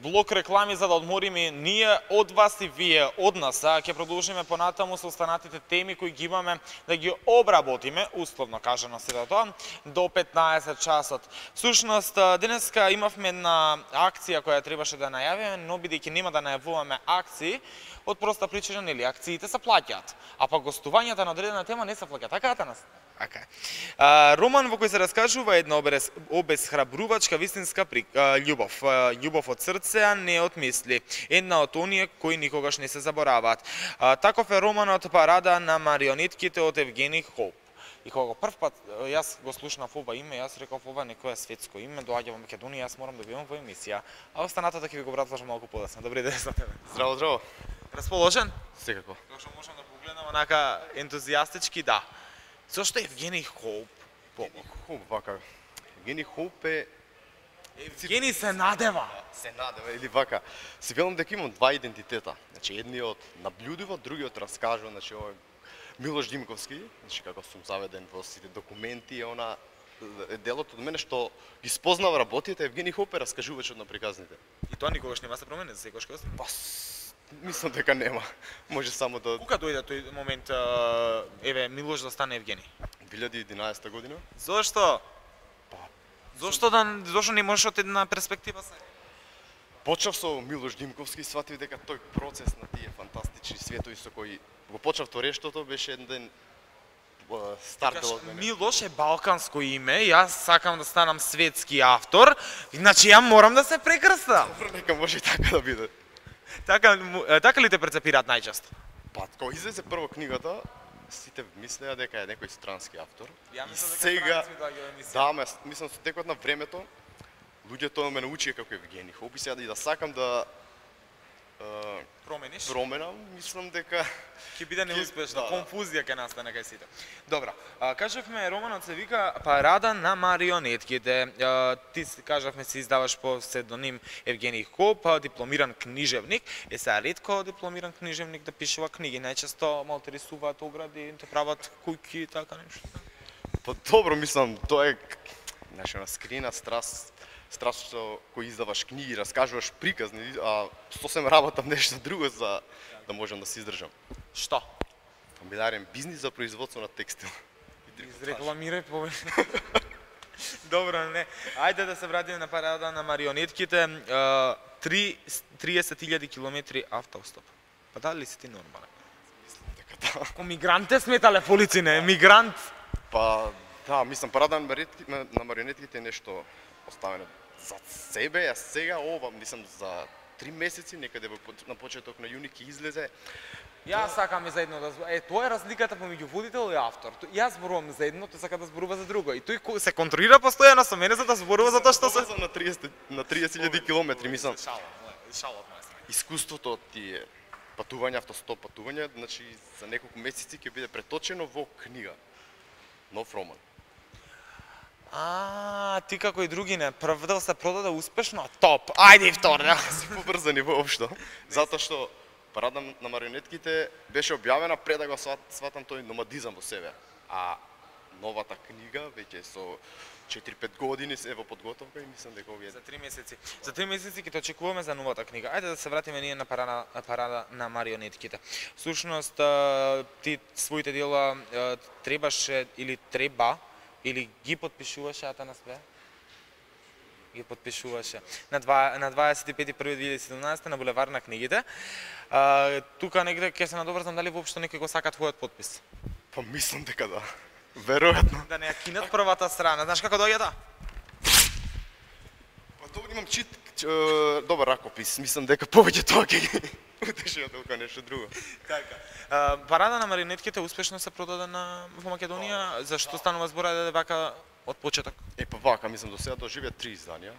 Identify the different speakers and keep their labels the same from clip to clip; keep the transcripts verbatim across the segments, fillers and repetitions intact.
Speaker 1: блок реклами за да одмориме ние од вас и вие од нас. А ќе продолжиме понатаму со останатите теми кои ги имаме да ги обработиме, условно кажано сето тоа, до петнаесет часот. Всушност, денеска имавме една акција која требаше да најавиме, но бидејќи нема да најавуваме акции, од проста причина, нели, акциите се плаќаат, а па гостувањата на одредена тема не се плаќаат. Така е нас? Така. А, роман во кој се раскажува една обез, обезхрабрувачка вистинска при, а, љубов. А, љубов од срце, а не од мисли. Една од оние кои никогаш не се забораваат. А, таков е романот Парада на марионетките од Евгени Хоуп. И кога прв пат јас го слушнав ова име, јас реков ова некое светско име, доаѓа во Македонија, јас морам да бидам во емисија. А останатото ќе ви го образлажам малку подоцна. Добри ден за тебе.
Speaker 2: Здраво, здраво.
Speaker 1: Расположен?
Speaker 2: Секако.
Speaker 1: Како што можам да погледнам онака ентузијастички, да. Зошто Евгени Хоуп?
Speaker 2: Евгени Хоуп, вака. Евгени Хоуп е...
Speaker 1: Евгени се надева.
Speaker 2: Се надева, или вака. Си велам дека имам два идентитета. Значи, едниот наблюдува, другиот раскажува, значи, овој Милош Димковски, значи, како сум заведен во сите документи, она е делот од мене што ги спознава работите, Евгени Хоуп е раскажувачот на приказните.
Speaker 1: И тоа никогаш нема се промени, за секогаш кога
Speaker 2: Па, мислам дека нема. Може само да...
Speaker 1: Кога дојде тој момент, еве, Милош да стане Евгени?
Speaker 2: две илјади и единаесета година.
Speaker 1: Зошто?
Speaker 2: Па,
Speaker 1: Зошто да зошто не можеш од една перспектива се?
Speaker 2: почнав со Милош Димковски, сватив дека тој процес на тие фантастични светови со кои го почнав торештото беше еден старт од мене.
Speaker 1: Милош е балканско име, јас сакам да станам светски автор, значи ја морам да се прекрстам.
Speaker 2: Добро, нека може и така да биде.
Speaker 1: Така, така ли те прецепираат најчесто?
Speaker 2: Па, кога излезе прво книгата, сите мислеа дека е некој странски автор.
Speaker 1: Ја
Speaker 2: И
Speaker 1: мислам дека
Speaker 2: сега,
Speaker 1: странци доаѓаат во емисија.
Speaker 2: да, ме, мислам со текот на времето, луѓето ме научија како Евгени Хоуп и сега да и да сакам да е,
Speaker 1: Промениш?
Speaker 2: променам, мислам дека
Speaker 1: Ќе биде неуспешно,
Speaker 2: да, да.
Speaker 1: конфузија ќе настане кај сите. Добра, а, кажавме романот се вика Парада на марионетките. А, ти си- кажавме се издаваш по псевдоним Евгени Хоуп, а, дипломиран книжевник. Е сега ретко дипломиран книжевник да пишува книги, најчесто малте рисуваат огради, те прават куќи и така нешто.
Speaker 2: Па добро, мислам, тоа е знаеш, една скриена страст, страст што кој издаваш книги, раскажуваш приказни, а сосем работам нешто друго за да можам да се издржам.
Speaker 1: Што?
Speaker 2: Фамилиарен бизнис за производство на текстил.
Speaker 1: Изрекламирај повеќе. Добро, не. Ајде да се вратиме на Парада на марионетките. А, три- триесет илјади километри автостоп. Па дали си ти нормален?
Speaker 2: Така да.
Speaker 1: Ко мигранте сметале полици, не, мигрант.
Speaker 2: Па да, мислам Парада на марионетките, на марионетките е нешто оставено за себе, а сега ова, мислам за три месеци, некаде во поч- на почеток на јуни ќе излезе.
Speaker 1: Јас сакам и за едно да збор- е тоа е разликата помеѓу водител и автор. Тој- Јас зборувам за едно, тој сака да зборува за друго и тој ко- се контролира постојано со мене за да зборува за тоа што се
Speaker 2: на триесет на триесет илјади километри, мислам.
Speaker 1: Шала, шала од моја страна.
Speaker 2: Искуството од тие патувања, автостоп патувања, значи за неколку месеци ќе биде преточено во книга. Нов роман.
Speaker 1: А, ти како и други не, прв дел се продаде успешно, топ. Ајде и втор, да.
Speaker 2: Си побрзани воопшто, затоа што Парада на марионетките беше објавена пред да го сват, сватам тој номадизам во себе. А новата книга веќе со четири-пет години се е во подготовка и мислам дека овие
Speaker 1: За три месеци. За три месеци ќе те очекуваме за новата книга. Ајде да се вратиме ние на Парада, Парада на марионетките. Всушност, а, ти своите дела а, требаше или треба или ги подпишуваше Атанас Бе? Ги подпишуваше на два на дваесет и пети први две илјади и седумнаесета на булевар на книгите. А, тука негде ќе се надоврзам дали воопшто некој го сака твојот подпис.
Speaker 2: Па мислам дека да. Веројатно.
Speaker 1: Да не ја кинат првата страна. Знаеш како доаѓа таа?
Speaker 2: Па добро имам чит, ч, е, добар ракопис. Мислам дека повеќе тоа ќе ги утеши од толку нешто друго.
Speaker 1: Така. А, Парада на марионетките успешно се продаде на во Македонија. Зашто станува збор да вака од почеток?
Speaker 2: Е па вака, мислам до сега доживеа три изданија.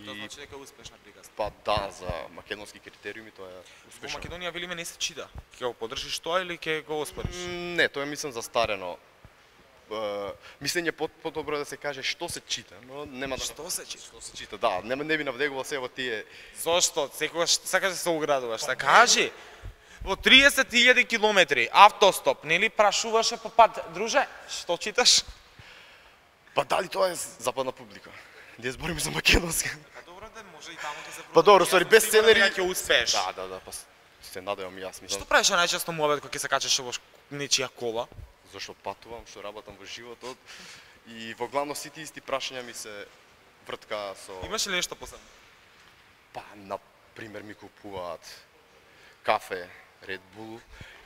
Speaker 1: Тоа
Speaker 2: И
Speaker 1: значи дека е успешна приказка.
Speaker 2: па да, за македонски критериуми тоа е
Speaker 1: Во
Speaker 2: успешно.
Speaker 1: Македонија велиме не се чита. Ќе го поддржиш тоа или ќе го оспориш?
Speaker 2: М, Не, тоа е мислам застарено. Е, мислење по подобро е да се каже што се чита, но нема да
Speaker 1: Што се чита?
Speaker 2: што се чита. Да, нема не би навдегувал се во тие.
Speaker 1: Зошто? Секогаш сакаш да се оградуваш. Та кажи. Во триесет илјади километри автостоп, нели прашуваше по пат, друже, што читаш?
Speaker 2: Па дали тоа е западна публика? Ние збориме за македонска.
Speaker 1: Па добро да може и таму ќе се
Speaker 2: Па добро, сори, бестселери
Speaker 1: ќе успееш.
Speaker 2: Да, да, да, па се надевам и јас, мислам.
Speaker 1: Што правиш најчесто муабет кога ќе се качеш во нечија кола?
Speaker 2: Зашто патувам, што работам во животот и во главно сите исти прашања ми се вртка со...
Speaker 1: Имаш ли нешто посебно?
Speaker 2: Па, на пример, ми купуваат кафе, Red Bull,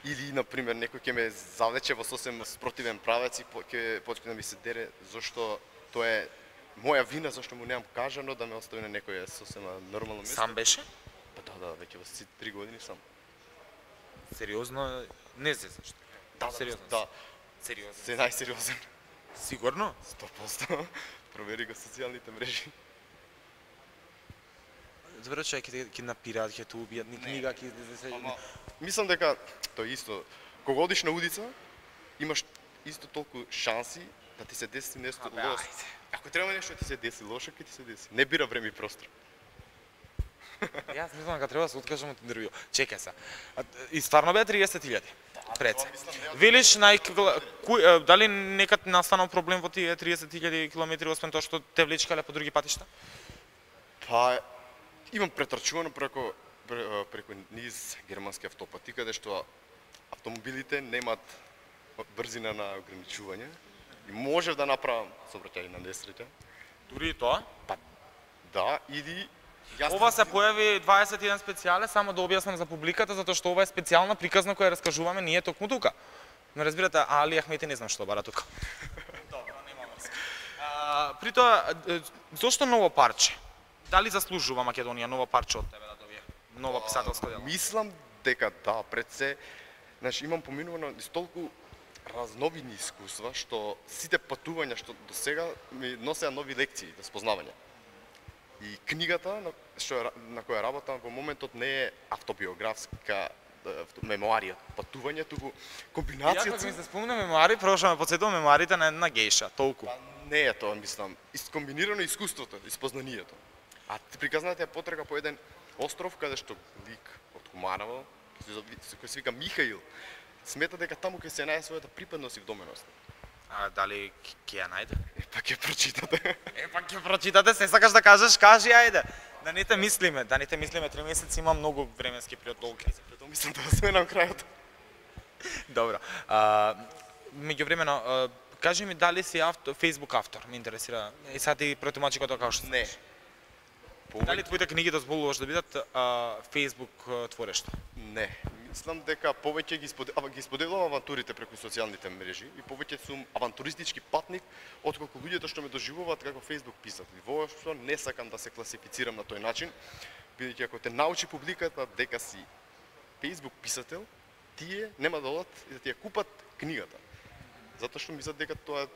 Speaker 2: или, на пример, некој ќе ме завлече во сосем спротивен правец и ќе почне да ми се дере, зашто тоа е моја вина, зашто му немам кажано да ме остави на некој сосема нормално место.
Speaker 1: Сам беше?
Speaker 2: Па да, да, веќе во три години сам.
Speaker 1: Сериозно, не се зашто.
Speaker 2: Да,
Speaker 1: Сериозно.
Speaker 2: Да,
Speaker 1: Сериозно.
Speaker 2: се најсериозен.
Speaker 1: Сигурно?
Speaker 2: сто проценти. Провери го социјалните мрежи.
Speaker 1: Добро, човек ќе ќе напираат, ќе те убијат, ни книга ќе се...
Speaker 2: Мислам дека тоа исто. Кога одиш на улица, имаш исто толку шанси да ти се деси нешто лошо. Ако треба нешто да ти се деси лошо, ќе ти се деси. Не бира време и простор.
Speaker 1: Јас мислам дека треба да се откажам од интервју. Чекај се. И стварно беа триесет илјади. Пред се. Велиш нај дали некад настанал проблем во тие триесет илјади километри освен тоа што те влечкале по други патишта?
Speaker 2: Па имам претрчувано преку преку низ германски автопати каде што автомобилите немаат брзина на ограничување и можев да направам сообраќај на несреќа.
Speaker 1: Дури и тоа?
Speaker 2: Па да, или јас
Speaker 1: Ова се појави дваесет и еден специјале, само да објаснам за публиката, затоа што ова е специјална приказна која раскажуваме ние токму тука. Но разбирате, Али Ахмети не знам што бара тука. Добро, нема врска. При тоа, зошто ново парче? Дали заслужува Македонија ново парче од тебе да добие? Нова писателска дела?
Speaker 2: Мислам дека да, пред се, значи имам поминувано из толку разновидни искуства што сите патувања што до сега ми носеа нови лекции за спознавање. И книгата на, што, на која работам во моментот не е автобиографска мемуарија, патување, туку комбинацијата...
Speaker 1: Ја кога ми се спомна мемуари, прво што ме потсетува мемуарите на една гејша, толку.
Speaker 2: Па не е тоа, мислам, искомбинирано искуството, испознанието. А приказната е потрага по еден остров каде што лик од Куманово, кој се вика Михаил, смета дека таму ќе се најде својата припадност и вдоменост.
Speaker 1: А дали ќе ја најде?
Speaker 2: Е, па ќе прочитате.
Speaker 1: Е, па ќе прочитате, се сакаш да кажеш, кажи, ајде. Да не те мислиме, да не те мислиме, три месеци има многу временски период долги.
Speaker 2: Прето мислам да сменам крајот.
Speaker 1: Добро. А, меѓувремено, а, кажи ми дали си автор, Facebook автор, ме интересира. И сега ти протумачи како како што
Speaker 2: Не.
Speaker 1: Дали твоите книги дозволуваш да бидат а, Facebook творишта?
Speaker 2: Не. Мислам дека повеќе ги споделувам, ги споделувам авантурите преку социјалните мрежи и повеќе сум авантуристички патник отколку луѓето што ме доживуваат како Facebook писател. Воопшто не сакам да се класифицирам на тој начин, бидејќи ако те научи публиката дека си Facebook писател, тие нема да одат и да ти ја купат книгата. Затоа што мислат дека тоа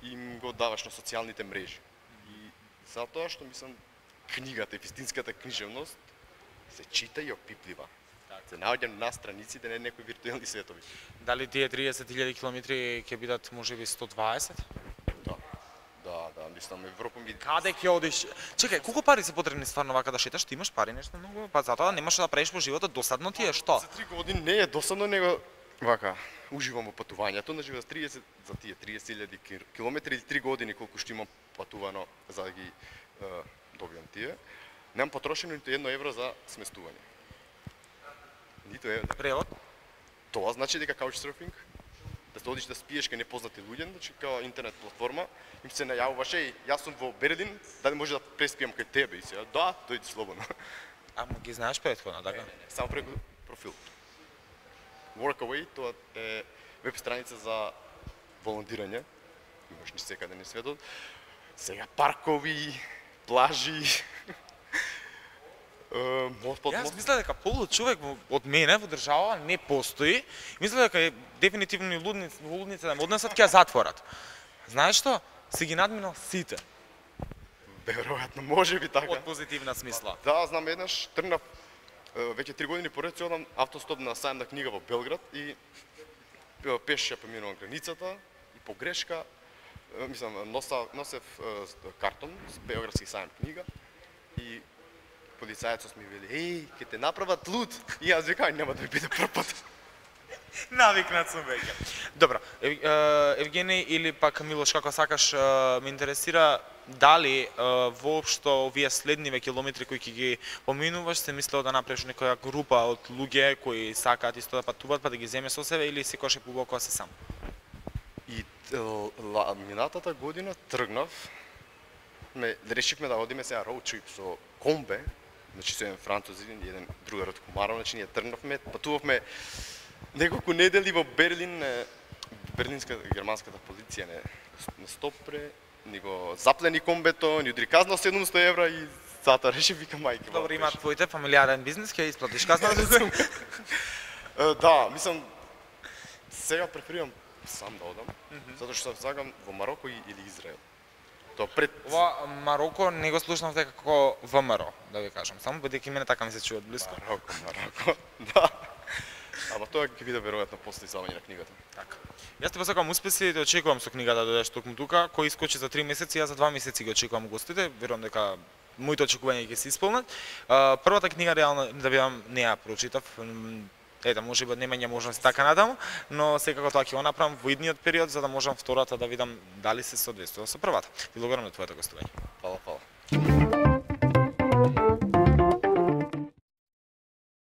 Speaker 2: им го даваш на социјалните мрежи. И затоа што мислам книгата и вистинската книжевност се чита и опиплива. Се наоѓам на страниците, не некои виртуелни светови.
Speaker 1: Дали тие триесет илјади километри ќе бидат можеби сто дваесет?
Speaker 2: Да. Да, да, мислам Европа ми...
Speaker 1: Каде ќе одиш? Чекај, колку пари се потребни стварно вака да шеташ? Ти имаш пари нешто многу? Па затоа немаш да правиш во животот, досадно ти е што?
Speaker 2: За три години не е досадно, него вака уживам во патувањето, значи за триесет за тие триесет илјади километри или три години колку што имам патувано за да ги е, добиам тие. Немам потрошено ниту едно евро за сместување. Ниту евро.
Speaker 1: Превод?
Speaker 2: Тоа значи дека couchsurfing, да се одиш да спиеш кај непознати луѓе, значи као интернет платформа, им се најавуваше и јас сум во Берлин, дали може да преспиам кај тебе и се, да, дојди слободно.
Speaker 1: Ама ги знаеш претходно, така?
Speaker 2: Само преку профил. Workaway, тоа е веб страница за волонтирање. Имаш ни секаде на светот. Сега паркови, плажи.
Speaker 1: Јас мисля дека полу човек од мене во држава не постои. Мисля дека е дефинитивно и лудници, лудници да ме однесат ќе ја затворат. Знаеш што? Се ги надминал сите.
Speaker 2: Веројатно, може би така.
Speaker 1: Од позитивна смисла.
Speaker 2: Да, знам еднаш тргнав веќе три години поред си одам автостоп на сајм на книга во Белград и пеш ја поминувам границата и по грешка мислам носа носев картон с Белградски сајм книга и полицајецот ми вели: "Еј, ќе те направат луд." И јас викам: "Нема да ми биде пропат."
Speaker 1: Навикнат сум веќе. Добро, Ев, е, Евгений или пак Милош, како сакаш, е, ме интересира дали е, воопшто овие следниве километри кои ќе ги поминуваш, се мислел да направиш некоја група од луѓе кои сакаат исто да патуваат, па да ги земе со себе, или секогаш е побаво кога се сам?
Speaker 2: И ла, минатата година тргнав, ме решивме да одиме сега роуд трип со комбе, значи со еден француз и еден другар од Комаров, значи ние тргнавме, патувавме неколку недели во Берлин, не, берлинска германската полиција не, не стопре, ни го заплени комбето, ни удри казна седумсто евра и затоа реши вика мајке.
Speaker 1: Добро, има твоите фамилиарен бизнис, ќе исплатиш казна.
Speaker 2: Да, мислам сега преферирам сам да одам, mm -hmm. затоа што сакам во Мароко или Израел. Тоа пред
Speaker 1: Ова Мароко не го слушнав дека како ВМРО, да ви кажам, само бидејќи мене така ми се чува од близко.
Speaker 2: Мароко, Мароко, да. Ама тоа ќе биде веројатно после издавање на книгата.
Speaker 1: Така. Јас ти посакувам успеси и те очекувам со книгата да додеш токму тука, кој искочи за три месеци, јас за два месеци ги очекувам гостите, верувам дека моите очекувања ќе се исполнат. Првата книга реално да бидам не ја прочитав, ете, може би немање можност така натаму, но секако тоа ќе го направам во идниот период за да можам втората да видам дали се соодветствува со првата. Ти благодарам на твоето гостување.
Speaker 2: Фала, фала.